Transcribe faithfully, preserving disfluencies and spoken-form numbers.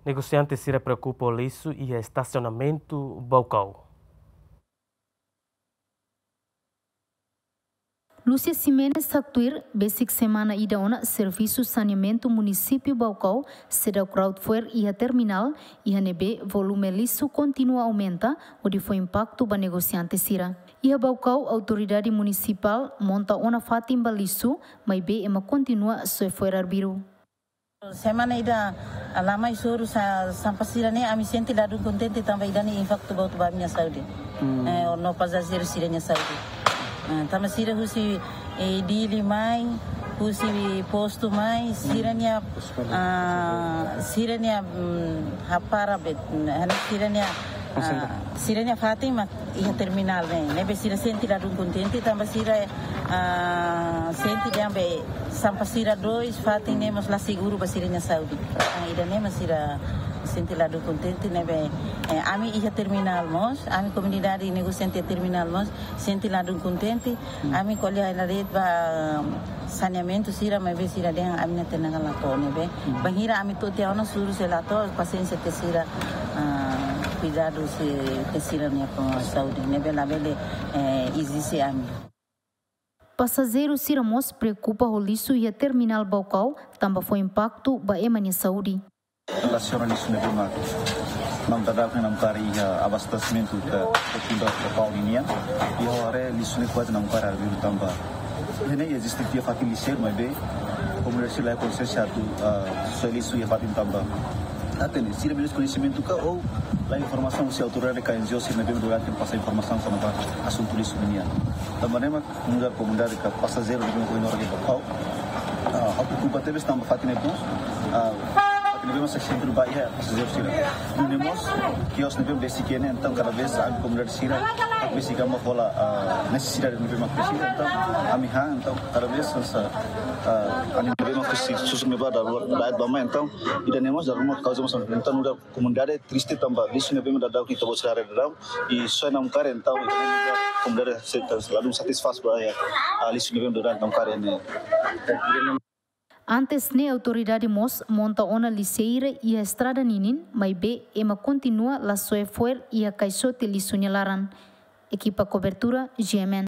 Negosiante sira preokupa ho lixu iha estasionamentu Baucau. Lúcia Ximenes haktuir, besik semana ida ona servisu saneamentu munisípiu Baucau seidauk la'o fo'er iha terminál, iha ne'ebé volume lixu kontinua aumenta, hodi fó impaktu ba negosiante sira. Iha Baucau, autoridade munisipál monta ona fatin ba lixu, maibé ema kontinua soe fo'er arbiru. Semana ida la mai soru sa-, sampah sira-ne'e ami sente ladún kontente tanba ida-ne'e impaktu boot ba ami-nia saúde. Hmm. Eh, no pasajeiru sira-nia saúde. Eh, tanba sira husi, eh, Dili mai, husi postu mai, sira-nia, ah, sira-nia, mm, hapara bet, eh, sira-nia, ah, sira-nia fatin mak iha terminál ne'e. Ne'ebé sira sente ladún kontente tanba sira, ah, sente dehan be sampah sira dois fatin ne'e mós la seguru ba sira-nia saúde. Ah, ida-ne'e mak sira sente ladún kontente ne'ebé, eh, ami iha terminál mós, ami komunidade negosiante terminál mós sente ladún kontente. Hmm. Ami ko'alia hela de'it ba saneamentu sira, maibé sira dehan ami-nia tenaga la to'o ne'ebé. Hmm. Bainhira ami to'o tiha ona soru sei la to'o, pasiénsia te sira, ah, kuidadu sei te sira-nia saúde ne'ebé labele, eh, ezije ami. Pasajeiru sira mós preokupa ho lixu iha terminál Baucau, tanba fó impaktu ba ema nia saúde. Relasiona lixu ne'ebé mak namkari, namkari iha abastesimentu ka, ka tunda ka pau ninian. Iha haree lixu ne'e kuaze namkari arbiru tanba iha ne'e eziste tiha fatin lixeiru maibé komunidade sira la konsiénsia atu, ah, soe lixu iha fatin tanba. Hatene, sira menos koñesimentu ka ou la informasaun husi autoridade ka N G O sira ne'ebé durante pasa informasaun kona-ba asuntu lixu ninian. Tanba ne'e mak nu'udar komunidade ka pasajeiru ne'ebé mak iha Baucau, ah, preokupa tebes tanba fatin ne'e mós, ah, fatin ne'ebé mak sentru ba iha pasajeiru sira. Nune'e mós kios ne'ebé besik iha ne'e, entaun kada vez ami komunidade sira besik ami hola, ah, nesesidade ne'ebé mak presiza, entaun ami han, entaun kada vez hanesan, ah, ami ne'ebé mak presiza susur ne'ebá dala ruma da'et ba mai, entaun ida-ne'e mós dala ruma kauza mós, entaun nu'udar komunidade triste tanba lixu ne'ebé mak dadaun ita-boot sira haree daudaun, i soe namkari, entaun ida-ne'e nu'udar komunidade sira ladún satisfás ba iha, ah, lixu ne'ebé mak dadaun namkari ne'e. Antes ne'e autoridade mós monta ona lixeira iha estrada ninin, maibé ema kontinua la soe fo'er iha kaixote lixu nia laran. Ekipa kobertura, G M N.